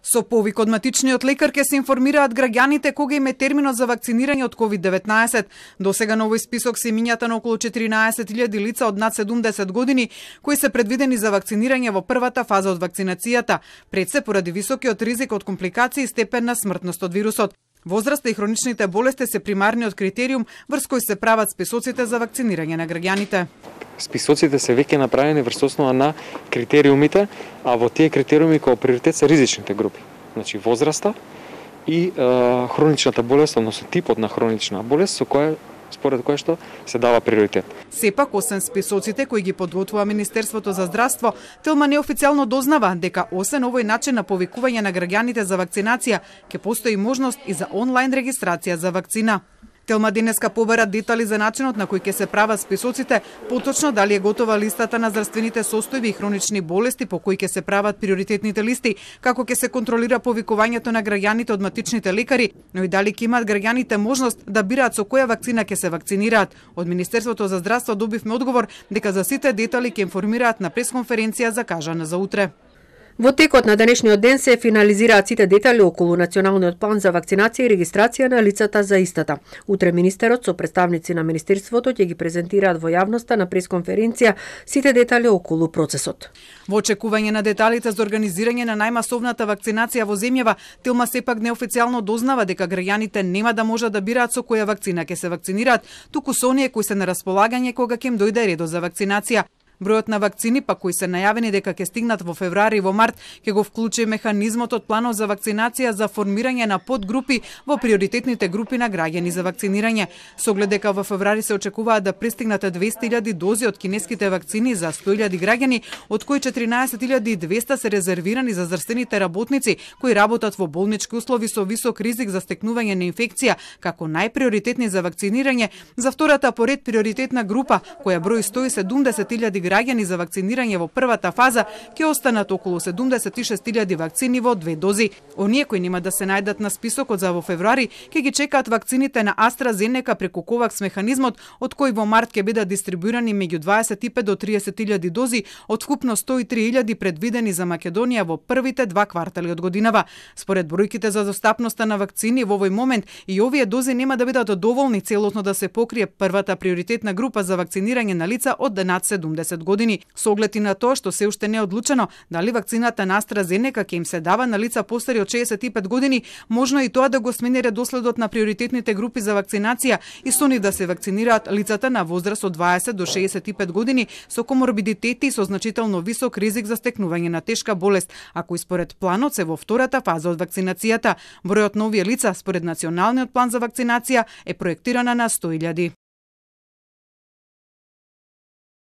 Со повик од матичниот лекар ќе се информираат граѓаните кога им е терминот за вакцинирање од COVID-19. Досега на овој список се имињата на околу 14.000 лица од над 70 години кои се предвидени за вакцинирање во првата фаза од вакцинацијата, пред се поради високиот ризик од компликации и степен на смртност од вирусот. Возраста и хроничните болести се примарниот критериум врз кој се прават списоците за вакцинирање на граѓаните. Списоците се веќе направени врз основа на критериумите, а во тие критериуми кој приоритет се ризичните групи. Значи возраста и хроничната болест, односно типот на хронична болест со која според кој што се дава приоритет. Сепак, освен списоците кои ги подготвува Министерството за здравство, Телма неофицијално дознава дека освен овој начин на повикување на граѓаните за вакцинација, ќе постои можност и за онлайн регистрација за вакцина. Телма денеска побара детали за начинот на кој ќе се прават списоците, поточно дали е готова листата на здравствените состојби и хронични болести по кои ќе се прават приоритетните листи, како ќе се контролира повикувањето на граѓаните од матичните лекари, но и дали ќе имаат граѓаните можност да бираат со која вакцина ќе се вакцинираат. Од Министерството за здравство добивме одговор дека за сите детали ќе информираат на пресконференција закажана за утре. Во текот на денешниот ден се финализираат сите детали околу националниот план за вакцинација и регистрација на лицата за истата. Утре министерот со представници на Министерството ќе ги презентираат во јавноста на пресконференција сите детали околу процесот. Во очекување на деталите за организирање на најмасовната вакцинација во земјава, Телма сепак неофицијално дознава дека граѓаните нема да можат да бираат со која вакцина ќе се вакцинираат, туку со оние кои се на располагање кога ќе им дојде редот за вакцинација. Бројот на вакцини па кои се најавени дека ќе стигнат во февруари и во март ќе го вклучи механизмот од планот за вакцинација за формирање на подгрупи во приоритетните групи на граѓани за вакцинирање. Со оглед дека во февруари се очекуваат да пристигнат 200.000 дози од кинеските вакцини за 100.000 граѓани, од кои 14.200 се резервирани за здравствените работници кои работат во болнички услови со висок ризик за стекнување на инфекција, како најприоритетни за вакцинирање. За втората поред приоритетна група, која брои 170.000 граѓани за вакцинирање во првата фаза, ќе останат околу 76.000 вакцини во 2 дози. Оние кои нема да се најдат на списокот за во февруари, ќе ги чекаат вакцините на AstraZeneca преку Ковакс механизмот, од кој во март ќе бидат дистрибуирани меѓу 25 до 30.000 дози, од вкупно 103.000 предвидени за Македонија во првите 2 квартали од годинава. Според бројките за достапноста на вакцини во овој момент, и овие дози нема да бидат доволни целосно да се покрие првата приоритетна група за вакцинирање на лица од над 70 години. Со оглед и на тоа што се уште не е одлучено дали вакцината на AstraZeneca ќе им се дава на лица постари од 65 години, можно и тоа да го смени редоследот на приоритетните групи за вакцинација и со нив да се вакцинираат лицата на возраст од 20 до 65 години со коморбидитети и со значително висок ризик за стекнување на тешка болест, ако и според планот се во втората фаза од вакцинацијата. Бројот на овие лица според националниот план за вакцинација е проектирана на 100.000.